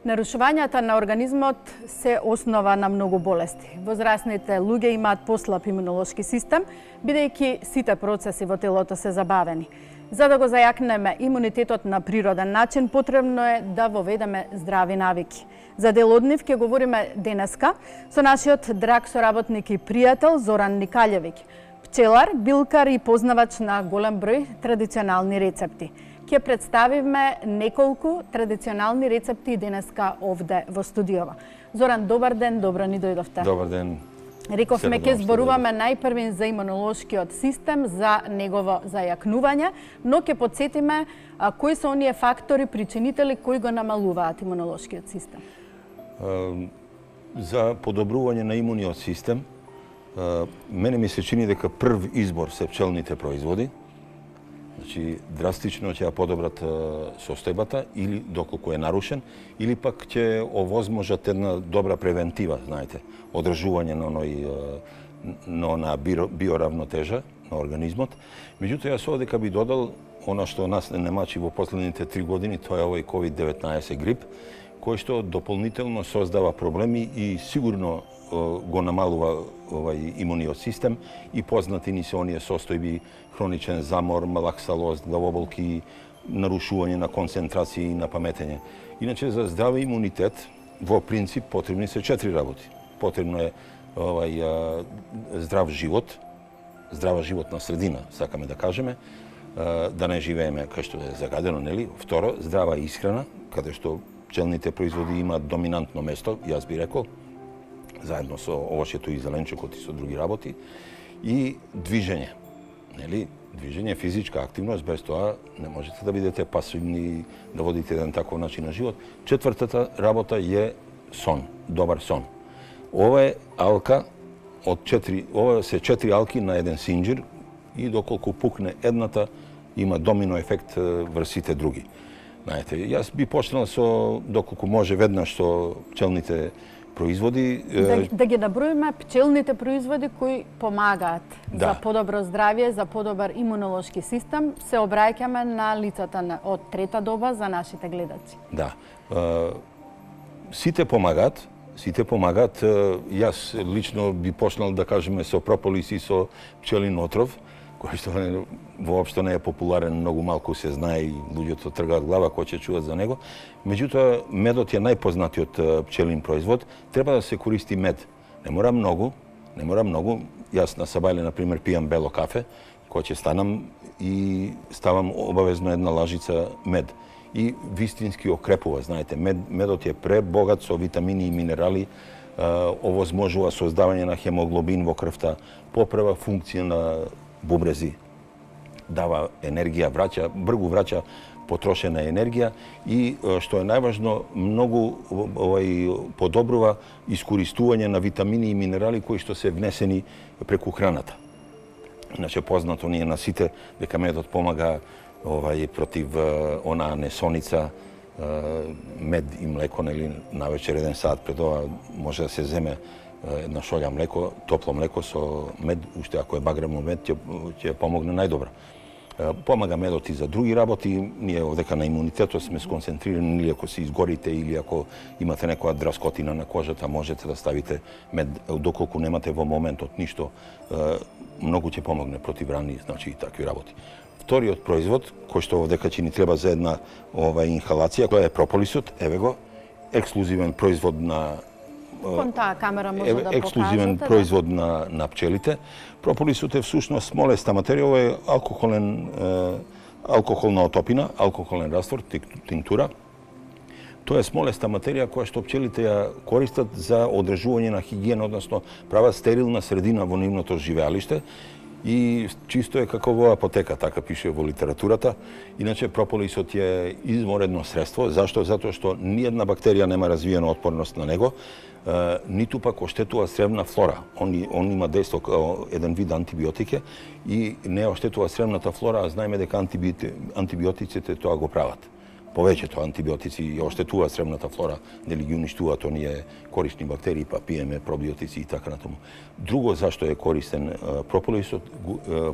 Нарушувањата на организмот се основа на многу болести. Возрастните луѓе имаат послаб имунолошки систем, бидејќи сите процеси во телото се забавени. За да го зајакнеме имунитетот на природен начин, потребно е да воведеме здрави навики. За дел од нив ќе говориме денеска со нашиот драг соработник и пријател Зоран Никалјевиќ, пчелар, билкар и познавач на голем број традиционални рецепти. Ќе представиме неколку традиционални рецепти денеска овде во студиова. Зоран, добар ден, добро ни дојдовте. Добар ден. Рековме ќе зборуваме најпрвин за имунолошкиот систем, за негово зајакнување, но ќе потсетиме кои се оние фактори, причинители кои го намалуваат имунолошкиот систем. За подобрување на имуниот систем, мене ми се чини дека прв избор се пчелните производи. Значи, драстично ќе ја подобрат состојбата, или доколку е нарушен, или пак ќе овозможат една добра превентива, знаете, одржување на она биоравнотежа на организмот. Меѓутоа, јас овде би додал она што нас не мачи во последните 3 години, тоа е овој COVID-19 грип, кој што дополнително создава проблеми и сигурно го намалува овај имуниот систем и познати ни се оние состојби хроничен замор, малаксалост, главоболки, нарушување на концентрација и на паметење. Иначе за здрав имунитет во принцип потребни се 4 работи. Потребно е здрав живот, здрава животна средина, сакаме да кажеме, да не живееме кај што е загадено, нели? Второ, здрава исхрана, каде што пчелните производи имаат доминантно место, јас би рекол, заедно со овошјето и зеленчукот и со други работи, и движење. Нели? Движење, физичка активност, без тоа не можете да бидете пасивни, да водите еден таков начин на живот. Четвртата работа е сон, добар сон. Ова е алка ова се 4 алки на еден синџир и доколку пукне едната, има домино ефект врз сите други. Знаете, јас би почнал со, доколку може, веднаш со пчелните производи. Да ги наброиме пчелните производи кои помагаат за подобро здравје, за подобар имунолошки систем. Се обраќаме на лицата од трета доба за нашите гледачи. Да. Сите помагаат. Јас лично би почнал да кажеме со прополис и со пчелин отров, кој што воопшто не е популарен, многу малку се знае и луѓето тргаат глава кој ќе чуват за него. Меѓутоа, медот е најпознатиот пчелин производ. Треба да се користи мед. Не мора многу. Јас на сабајле, например, пијам бело кафе, кој ќе станам и ставам обавезно една лажица мед. И вистински окрепува, знаете. Медот е пребогат со витамини и минерали, овозможува создавање на хемоглобин во крвта, поправа функција на бубрези, дава енергија, бргу враќа потрошена енергија и, што е најважно, многу подобрува искористување на витамини и минерали кои што се внесени преку храната. Иначе познато ни е на сите дека медот помага против онаа несоница, мед и млеко, нели, навечер 1 сат пред ова може да се земе една шолја млеко, топло млеко со мед, уште ако е багремо мед, ќе помогне најдобро. Помага медот и за други работи. Ние овдека на имунитетот сме сконцентрирани, или ако се изгорите, или ако имате некоја драскотина на кожата, можете да ставите мед, доколку немате во моментот ништо, многу ќе помогне против рани, значи и такви работи. Вториот производ, кој што овдека ни треба за една инхалација, која е прополисот, еве го, ексклузивен производ на ексклузивен производ на пчелите. Прополисот е всушност смолеста материја, ова е алкохолна отопина, алкохолен раствор, тинктура. Тоа е смолеста материја која што пчелите ја користат за одржување на хигиена, односно прават стерилна средина во нивното живеалиште. И чисто е како во апотека, така пише во литературата. Иначе прополисот е изморедно средство. Зашто? Затоа што ниедна бактерија нема развиена отпорност на него, ниту пак оштетува сревна флора. Он има дејство како еден вид антибиотике и не оштетува сревната флора, а знаеме дека антибиотиците тоа го прават. повеќето антибиотици оштетуваат сребната флора, нели ги уништуваат оние корисни бактерии, па пиеме пробиотици и така натаму. Друго зашто е користен прополисот,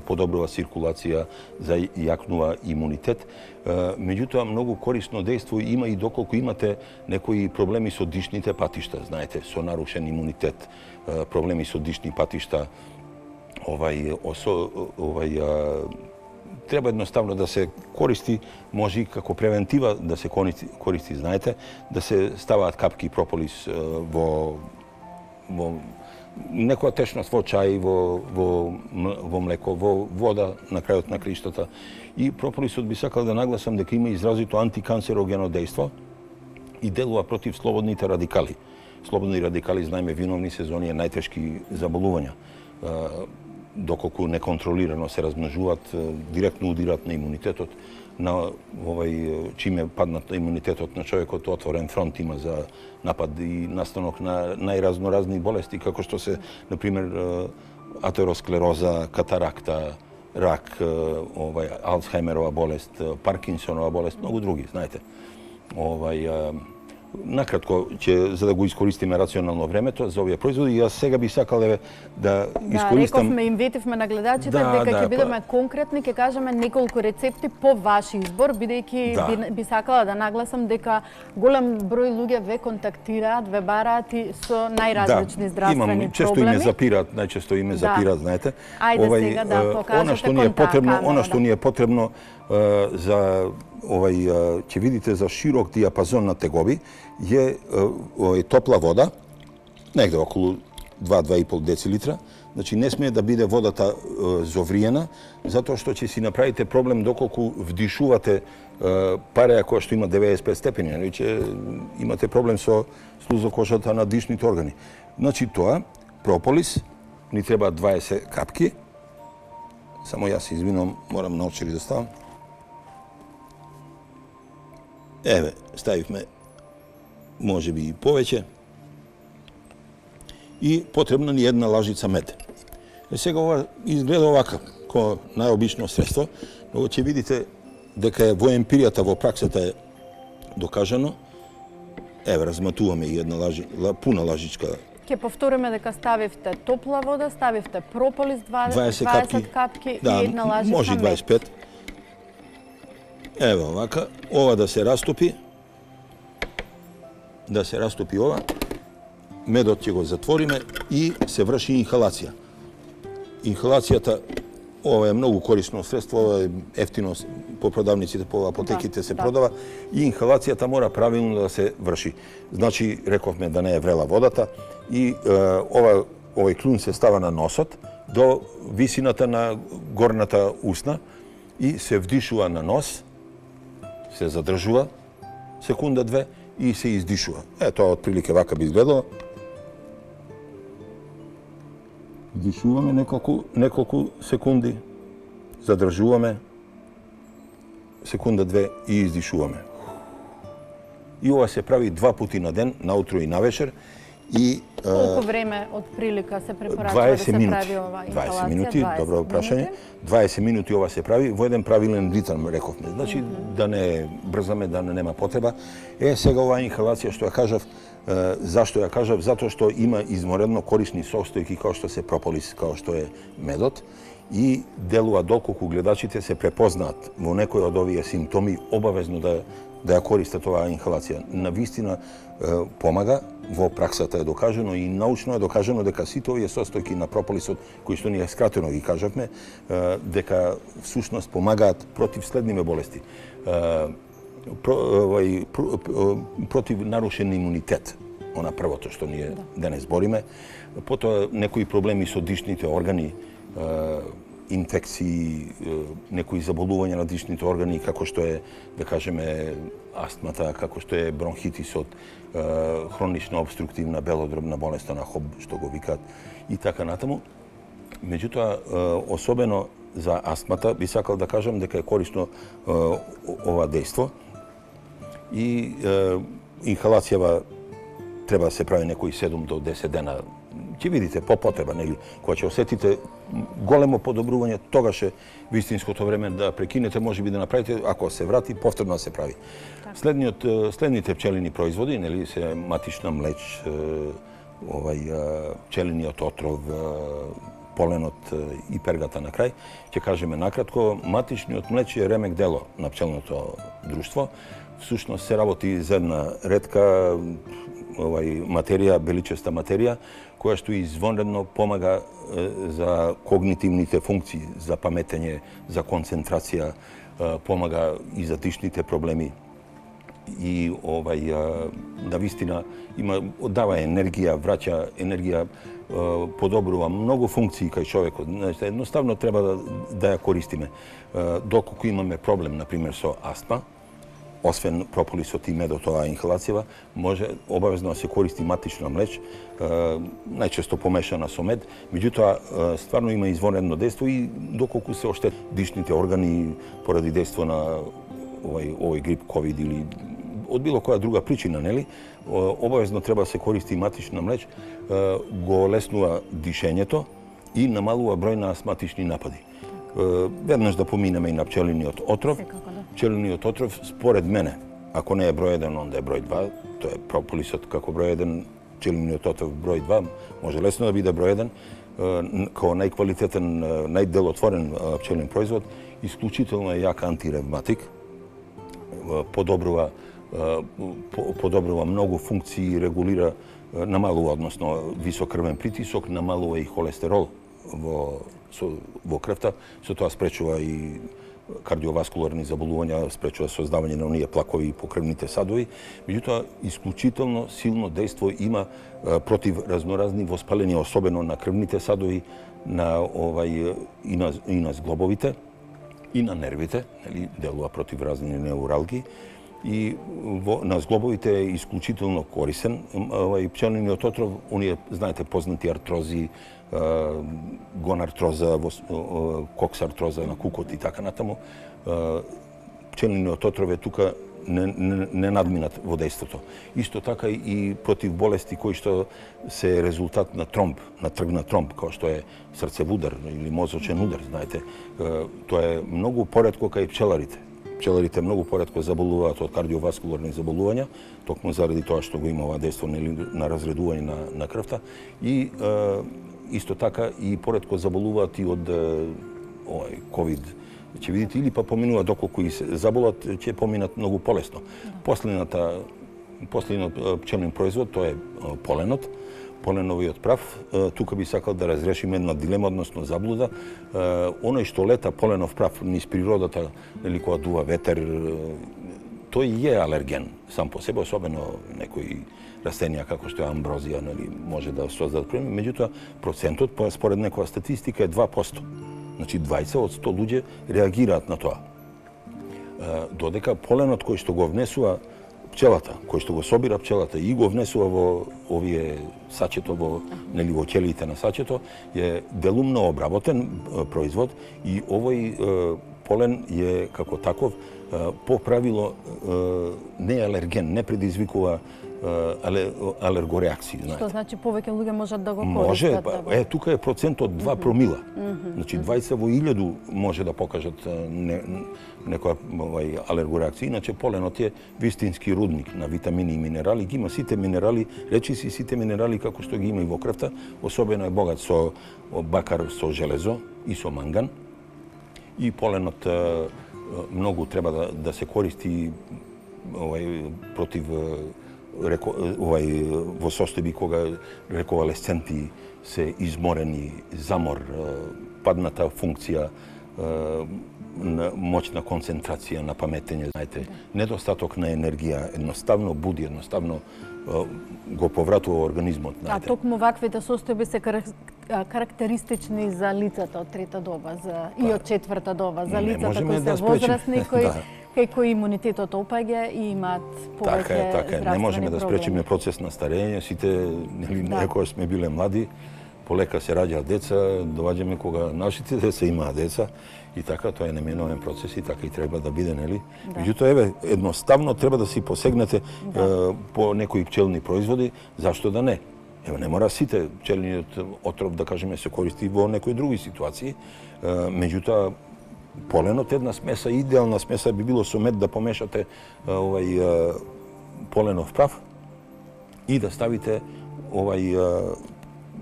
подобрува циркулација, зајакнува имунитет. Меѓутоа многу корисно дејство има и доколку имате некои проблеми со дишните патишта, знаете, со нарушен имунитет, проблеми со дишни патишта, треба едноставно да се користи, може и како превентива да се користи, знаете, да се ставаат капки прополис во некоја течност, во чај, во млеко, во вода на крајот на криштата. И прополисот би сакал да нагласам дека има изразито антиканцерогено дејство и делува против слободните радикали. Слободни радикали, знаеме, виновни сезони е најтешки заболувања. Доколку неконтролирано се размножуваат, директно удират на имунитетот, на чиме паднат на имунитетот на човекот, отворен фронт има за напад и настанок на најразноразни болести, како што се, например, атеросклероза, катаракта, рак, Алцхаймерова болест, Паркинсонова болест, многу други, знаете. Накратко, за да го искористиме рационално времето за овие производи, јас сега би сакал да искористам... Рековме, им ветивме на гледачите дека ќе бидеме конкретни, ќе кажеме неколку рецепти по ваш избор, бидејќи би сакала да нагласам дека голем број луѓе ве контактираат, ве бараат и со најразлични здравствени проблеми. Често име запираат, најчесто име запираат, знаете. Ајде сега да покажете контакт. Она што ни е потребно за ќе видите за широк диапазон на тегоби е топла вода, негде околу 2-2,5 децилитра. Значи не смее да биде водата зовриена, затоа што ќе си направите проблем доколку вдишувате пареја која што има 95 степени, ќе имате проблем со слузокожата на дишните органи. Значи тоа, прополис, ни треба 20 капки. Само јас се извинувам, морам наочари да ставам. Еве, ставивме може би и повеќе. И потребна ни една лажица мед. Сега ова изгледа овака, ко најобично средство, но ќе видите дека во емпиријата, во праксата е докажано. Еве, разматуваме и една пуна лажичка. Ќе повториме дека ставивте топла вода, ставивте прополис 20 капки и една лажица мед. Може и 25. Ево овака, ова да се растопи. Да се растопи ова. Медот ќе го затвориме и се врши инхалација. Инхалацијата, ова е многу корисно средство, ова е ефтино по продавниците, по апотеките се продава и инхалацијата мора правилно да се врши. Значи, рековме да не е врела водата и овој клун се става на носот до висината на горната усна и се вдишува на нос, се задржува секунда-две и се издишува. Тоа отприлике вака би изгледало. Вдишуваме неколку секунди, задржуваме секунда-две и издишуваме. И ова се прави 2 пати на ден, наутро и навечер. И колку време од прилика се препорачува да се прави ова инхалација? 20 минути, добро прашање. 20 минути ова се прави во еден правилен ритм, рековме. Значи да не брзаме, да не нема потреба. Сега оваа инхалација што ја кажав, зашто ја кажав? Затоа што има изморедно корисни состојки како што се прополис, како што е медот и делува доколку гледачите се препознаат во некој од овие симптоми, обавезно да ја користат оваа инхалација. Навистина помага, во праксата е докажано и научно е докажано дека сите овие состојки на прополисот, кои што ние скратено ги кажавме, дека всушност помагаат против следниве болести. Против нарушен имунитет, она првото што ние денес бориме, потоа некои проблеми со дишните органи, инфекции, некои заболувања на дишните органи, како што е, да кажеме, астмата, како што е бронхитисот, хронична обструктивна белодробна болест на ХОБ, што го викаат, и така натаму. Меѓутоа, особено за астмата, би сакал да кажам дека е корисно ова дејство и инхалацијава треба да се прави некои 7 до 10 дена ќе видите по потреба, нели, кога ќе осетите големо подобрување, тогаш е вистинското време да прекинете, можеби да направите, ако се врати, повторно да се прави. Следните пчелини производи, нели, се матична млеч, пчелиниот отров, поленот и пергата на крај. Ќе кажеме накратко, матичниот млеч е ремек дело на пчелното друштво. Всушност се работи за една ретка материја, беличеста материја, која што извонредно помага за когнитивните функции, за паметење, за концентрација, помага и за дишните проблеми. И навистина дава енергија, враќа енергија, подобрува многу функции кај човекот. Едноставно треба да ја користиме. Доколку имаме проблем, например, со астма, освен прополисот и медото, инхалацијава, може обавезно да се користи матична млеч, најчесто помешана со мед. Меѓутоа, стварно има извонредно дејство и доколку се оштет дишните органи поради дејство на овој грип, ковид или од било која друга причина, нели, обавезно треба да се користи матична млеч, го олеснува дишењето и намалува број на астматични напади. Веднаш да поминеме и на пчелиниот отров. Пчелиниот отров, според мене, ако не е број 1, онда е број 2, тоа е прополисот како број 1, пчелиниот отров број 2, може лесно да биде број 1, као најквалитетен, најделотворен пчелен производ, исклучително е јак антиревматик, подобрува многу функции, регулира, намалува, односно висок крвен притисок, намалува и холестерол во крвта, со тоа спречува и кардиоваскуларни заболувања, спречува создавање на оние плакови по крвните садови. Меѓутоа, исклучително силно дејство има против разноразни воспалени, особено на крвните садови, и на зглобовите, и на нервите, нели, делува против разни неуралги. И на зглобовите е исклучително корисен. Пчелниот отров, оние, знаете, познати артрози, гонартроза, коксартроза на кукот и така натаму. Пчелниот отров е тука не надминат во дејството. Исто така и против болести кои што се резултат на тромб, на тргнат тромб, како што е срцевудар или мозочен удар, знаете. Тоа е многу поретко кај пчеларите. Пчеларите многу поретко заболуваат од кардиоваскуларни заболувања, токму заради тоа што го има ова дејство на разредување на крвта. И исто така и поретко заболуваат и од ковид. Ќе видите, или па поминуваат, доколку и се заболат, ќе поминат многу полесно. Последниот пчелен производ, тоа е поленот, поленовиот прав. Тука би сакал да разрешиме една дилема, односно заблуда. Оној што лета поленов прав низ природата, или кога дува ветер, тој е алерген сам по себе, особено некои растенија како што е амброзија, нели, може да создадат проблеми. Меѓутоа, процентот, според некоја статистика, е 2%. Значи, 20 од 100 луѓе реагираат на тоа. Додека поленот кој што го внесува пчелата, кој што го собира пчелата и го внесува во овие сачето, во ќелиите на сачето, е делумно обработен производ и овој полен е како таков по правило не е алерген, не предизвикува алергореакции. Што значи повеќе луѓе можат да го користат? Може, тука е процент од 2 промила. Значи 20 во 1000 може да покажат некоја алергореакција. Иначе поленот е вистински рудник на витамини и минерали. Ги има сите минерали, речиси сите минерали како што ги има и во крвта. Особено е богат со бакар, со железо и со манган. И поленот многу треба да се користи против во состојби кога реконвалесценти се изморени, замор, падната функција, моќна концентрација на паметење, знаете, недостаток на енергија, едноставно буди, едноставно го повратува организмот. А токму ваквите состојби се карактеристични за лицата од трета доба и од четврта доба, за лицата кои се возрастни, кои имунитетот опаѓа и имаат повеќе здравствени проблеми. Не можеме да спречиме процес на старење, сите, некоја сме биле млади, полека се раѓаат деца, доваѓаме кога нашите деца имаат деца и така, тоа е неминовен процес и така и треба да биде, нели? Меѓутоа, едноставно треба да си посегнете по некои пчелни производи, зашто да не? Ево, не мора сите пчелиниот отров, да кажеме, се користи во некои други ситуации. Меѓутоа, поленот една смеса, идеална смеса би било со мед да помешате поленов прав и да ставите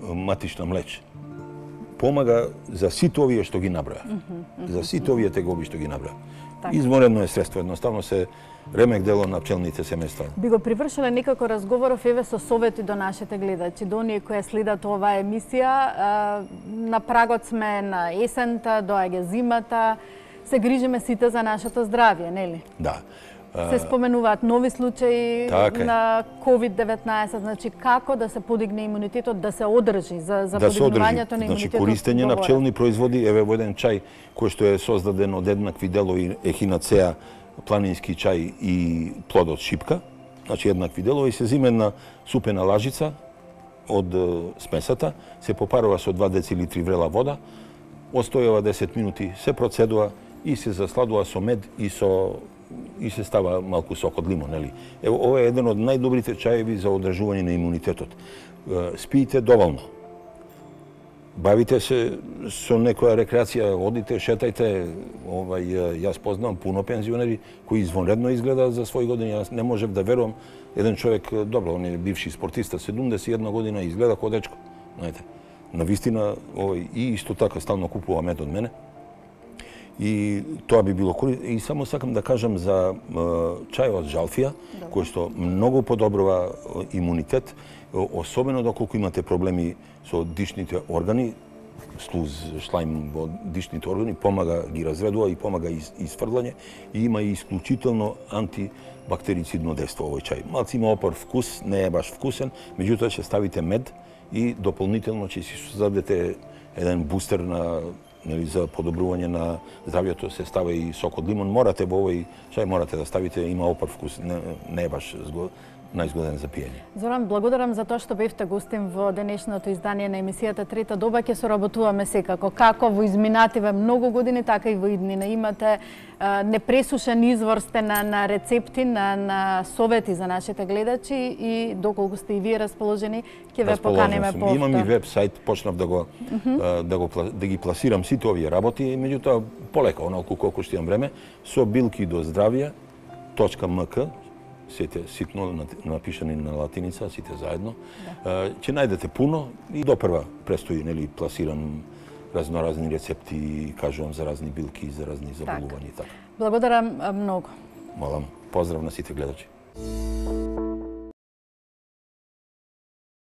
матична млеч. Помага за сите овие што ги наброја. За сите овие тегоби што ги наброја. Изморено е средство, едноставно се ремек дело на пчелните семејства. Би го привршиле некако разговоров еве со совети до нашите гледачи, до оние кои следат оваа емисија. На прагот сме на есента, доаѓа зимата, се грижиме сите за нашето здравје, нели? Да. Се споменуваат нови случаи на COVID-19, значи како да се подигне имунитетот, да се одржи за подигнувањето на имунитетот. Значи користење на пчелни производи, еве во еден чај кој што е создаден од еднакви делови ехинацеа, планински чај и плодот шипка, значи еднакви делови, се зиме една супена лажица од смесата, се попарува со 2 децилитри врела вода, остојува 10 минути, се процедува и се засладува со мед и се става малку сок од лимон, нели? Ево, ова е еден од најдобрите чаеви за одржување на имунитетот. Спиите доволно. Бавите се со некоја рекреација, одите, шетајте. Јас познавам пуно пензионери кои извонредно изгледаат за своји години. Јас не можев да верувам еден човек, добро, он е бивши спортиста, 71 година, изгледа ко дечко. Знаете, навистина, и исто така стално купува мед од мене. И тоа би било корисно. И само сакам да кажам за чајот жалфија, кој што многу подобрува имунитет, особено доколку имате проблеми со дишните органи, слуз, шлајм во дишните органи, помага ги разведува и помага изфрлање и има и исклучително антибактерицидно дејство овој чај. Малци има опар вкус, не е баш вкусен, меѓутоа ќе ставите мед и дополнително ќе си создадете еден бустер за подобрување на здравјето, се става и сок од лимон. Морате во овој чај да ставите, има опар вкус, не е баш најзгоден за пиење. Зоран, благодарам за тоа што бевте гостин во денешното издание на емисијата Трета доба. Ќе соработуваме секако. Како во изминативе многу години, така и во иднина. Имате непресушен извор сте на рецепти, на совети за нашите гледачи и доколку сте и вие расположени, ќе ве поканеме повторно. Имам и веб-сайт, почнав да ги пласирам сите овие работи, меѓутоа полека, оналку колку што имам време, со билки до здравје.мк, сите ситно напишани на латиница, сите заедно. Ќе најдете пуно и допрва престои, нели, пласирам разноразни рецепти, кажувам за разни билки, за разни заболувања и така. Благодарам многу. Молам. Поздрав на сите гледачи.